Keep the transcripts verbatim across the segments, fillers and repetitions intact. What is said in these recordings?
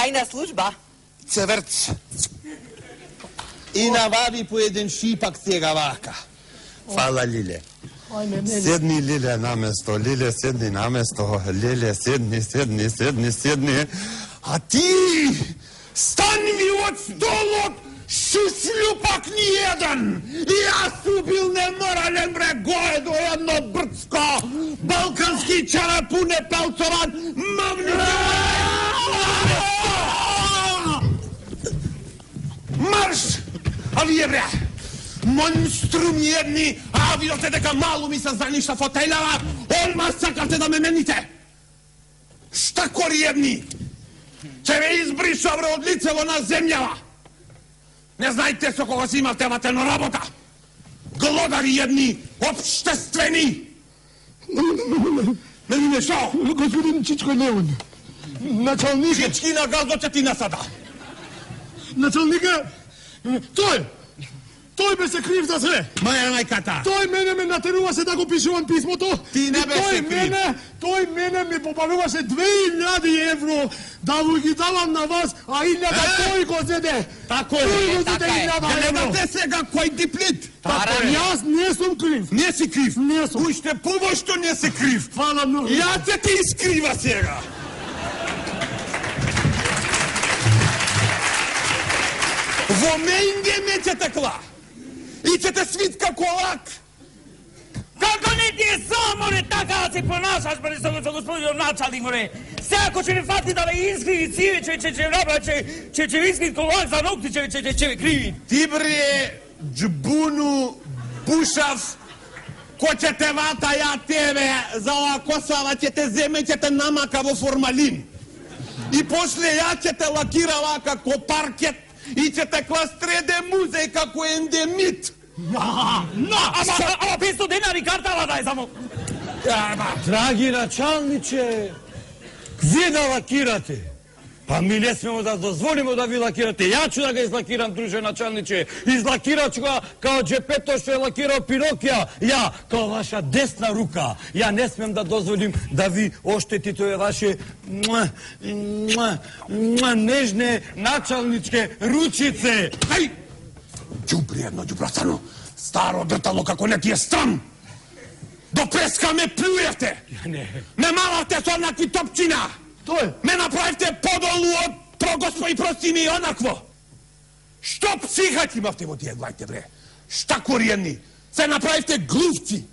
Тајна служба. Цеврц. И навади по еден шипак сега вака. Фала, Лиле. Седни, Лиле, на место. Лиле, седни на место. Лиле, седни, седни, седни, седни. А ти стани ми од столот, шушлю пак ни еден. И јас убил неморален бре, гое до едно брцко, балкански чарапуне пелцован, мавни... Марш! А вие бре, монструми едни, а видите дека малу ми се заништа фотелјава, одма сакавте да ме мените. Штакори едни, ќе ве избриша бре од лицево на земјава. Не знаете со кого си имавте ватено работа. Глодари едни, обштествени. Не, не, не, шо? Господин Чичко Леон, началник... Чички на газот ќе ти насада. Началника, тој, тој беше крив за све. Маја мајката. Тој мене ме натеруваше да го пишувам писмото. Ти не беше тој крив. Мене, тој мене ми попаруваше две илјади евро да го ги давам на вас, а илјада тој го зеде. Тако Тој е, го така зеде е. илјада Ја евро. гледате сега кој диплит. Така, јас не сум крив. Не си крив. Не сум. Уште повошто не си крив. Фала многу. Ја ќе те искрива сега. Во менге ме ќе текла. И ќе те свитка колак. Како не ти е само не така да се понашаш, бре, со господин началник, бре. Сега ако ќе не фати да ве искриви циве, че че че направи, че че че искриви колак за ногти, че че че ве криви. Ти бре, джбуну, бушав, кој ќе те вата ја тебе, за ова косава ќе те земе, ќе те намака во формалин. И после ја ќе те лакира вака ко паркет и ќе те кластреде музеј како ендемит. На, на, ама, ама петстотин денари картава дај само. Драги началниче, вие да лакирате. Па ми не смемо да дозволимо да ви лакирате. Ја ću да ga излакирам, друже началниче. Излакират ću ga kao Джепето што е лакирao Пинокија. Ја, kao ваша десна рука. Ја не смем да дозволим да ви оштетите овие ваше муа, муа, муа, нежне началничке ручице. Ај! Đubri jedno, đubracano. Старо дртало како не ти е срам. До преска ме плюевте. Ме малавте со онакви топчина. Тој. Ме направивте подолу од прогоспо и прости ми онакво. Што психат имавте во тие главите, бре? Штакори едни. Се направивте глувци.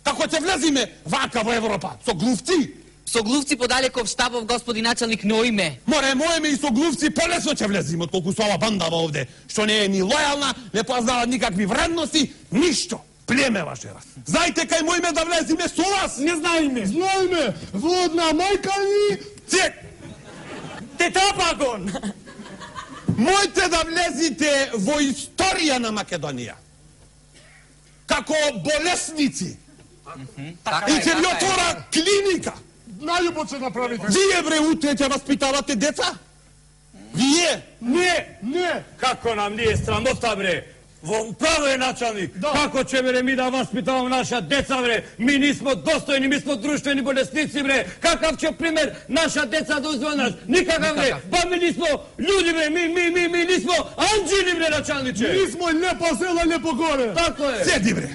Како ќе влезиме вака во Европа? Со глувци? Со глувци подалеков штабов господин началник Ноиме. Море, моеме и со глувци полесно ќе влезиме, отколку со ова бандава овде, што не е ни лојална, не познава никакви вредности, ништо. Племе ваше раз. Знаете кај мојме да влезиме со вас? Не знаеме. Знаеме. Во одна мајка ни... Цек! Тетапагон. Мојте да влезите во историја на Македонија. Како болесници. И ќе ви отвора клиника. Најубот се направите. Вие, бре, утре ќе воспитавате деца? Вие? Не, Не. како нам ние срамота, бре. Во право е началник. Да. Како ќе бре ми да воспитавам наша деца, бре? Ми нисмо достојни, ми смо друштвени болесници, бре. Какав ќе пример наша деца да узме нас? Никакав, бре. Па ми нисмо луѓи, бре. Ми, ми, ми, ми нисмо анџели, бре, началниче. Нисмо лепо села, лепо горе. Тако е. Седи, бре.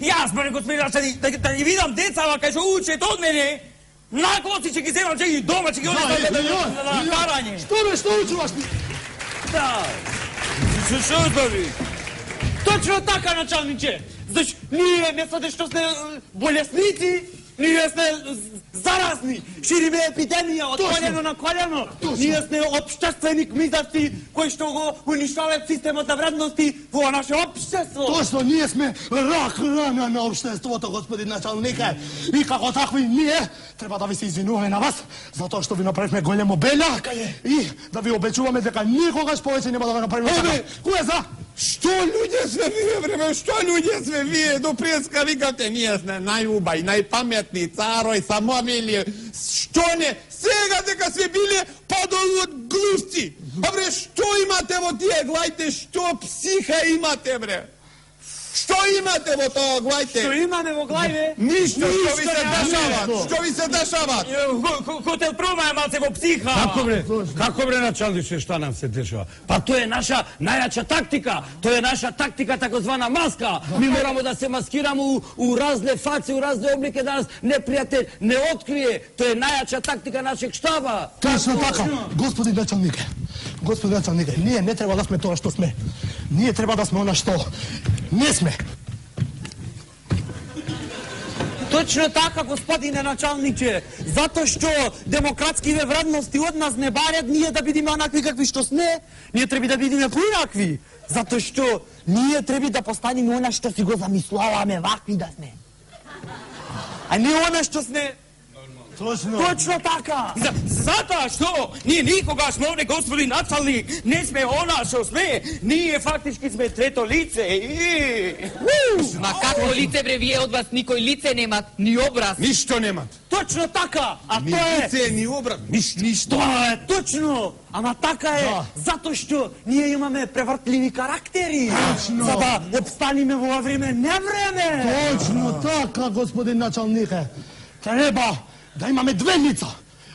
Јас, бре, господин началник, да, да ги видам децава кај што учат од мене, наклоци ќе ги земам, ќе ги дома, ќе ги однесам на карање. Што бе, што учуваш? Да. Што што збори? Точно така, началниче. Заш ние место што сме болесници, ние сме заразни. Шириме епидемија од колено на колено. Ние сме општествени кмизарци кои што го уништаваат системот на вредности во наше општество. Точно, ние сме рак рана на општеството, господин началнике. И како такви ние треба да ви се извинуваме на вас, затоа што ви направивме големо белја и да ви обечуваме дека никогаш повеќе нема да го направиме така. Кој е за? Што луѓе сме вие, бре, што луѓе сме вие? До преска викате, ние сме најубај, најпаметни, царој, самовили. Што не? Сега дека сме биле подолу од глувци. А бре, што имате во тие глајте? Што психа имате, бре? Што имате во тоа, глајте? Што имаме во главе? Ништо, што ви се Ништо дешава? ништо. Што ви се дешава? Хотел прома е малце во психа. Како бре? Како бре началниче што нам се дешава? Па тоа е наша најаča тактика. Тоа е наша тактика таkozvana маска. Ми морамо да се маскираме у, у разне фаци, у разне облики да нас непријател не открие. Тоа е најača тактика нашeg штаба. Точно така, господин началнике. Господин началнике, ние не треба да сме тоа што сме. Ние треба да сме она што не сме. Точно така, господине началниче. Затоа што демократскиве вредности од нас не барат ние да бидеме онакви какви што сме. Ние треба да бидеме поинакви. Затоа што ние треба да постанеме она што си го замислуваме, вакви да сме. А не она што сме. Точно. Точно така. За, затоа што ние никогаш овде, господин началник, не сме она што сме. Ние фактички сме трето лице. И... Ма какво лице бре, вие од вас никој лице немат, ни образ. Ништо немат. Точно така. А Ни тоа е лице, ни образ, ништо. Ништо. Тоа е точно, ама така е, Да. затоа што ние имаме превртливи карактери. Точно. За да обстаниме во ова време, не време. Точно така, господин началнике. Треба да имаме две лица.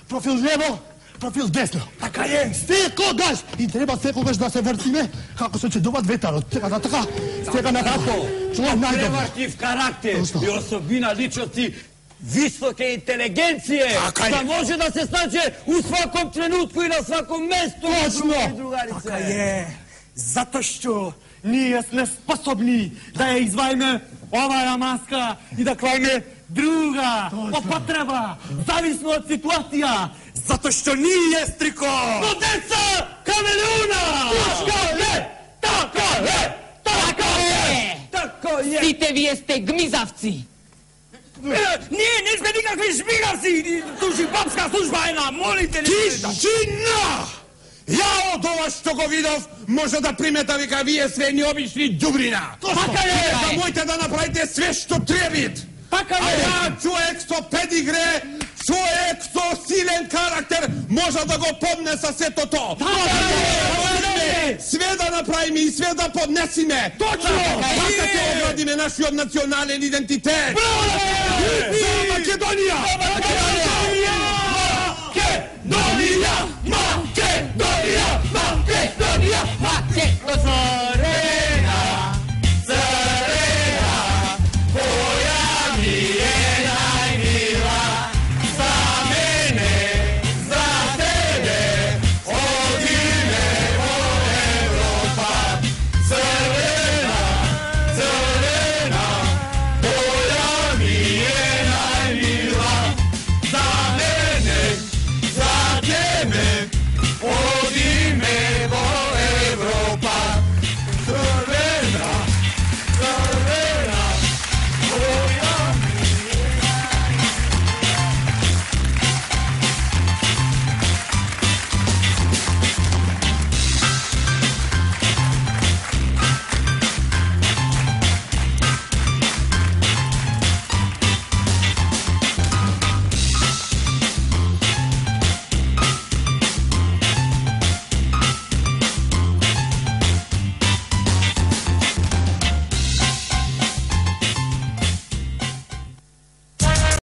Профил лево, профил десно. Така е. Секогаш! И треба секогаш да се вртиме како се чедува ветерот. Така да така, сега на како. Тоа е најдобро. Превртив карактер Точно. и особина личности висока интелигенција, Така е. да може да се snađe у сваком тренутку и на сваком место. Точно. Другарице. Така е. Затоа што ние сме способни да ја извајме оваа маска и да клајме друга, по потреба, зависно од ситуација, затоа што ние стрико. Но деца, камелуна! Така е! Така е! Така е! Така е! Сите вие сте гмизавци. Ние не сме никакви шпигавци. Туши бабска служба е на, молите ли? Тишина! Ја од ова што го видов, може да примета вика вие све ни обични ѓубрина. Така е! Да можете да направите све што требит. Така А е. ја човек со педигре, човек со силен карактер, може да го поднеса сето то. Све да направиме и све да поднесиме. Точно! Така ќе оградиме нашиот национален идентитет. За Македонија! Македонија! Македонија! Македонија! Македонија! Македонија! За мене, за тебе,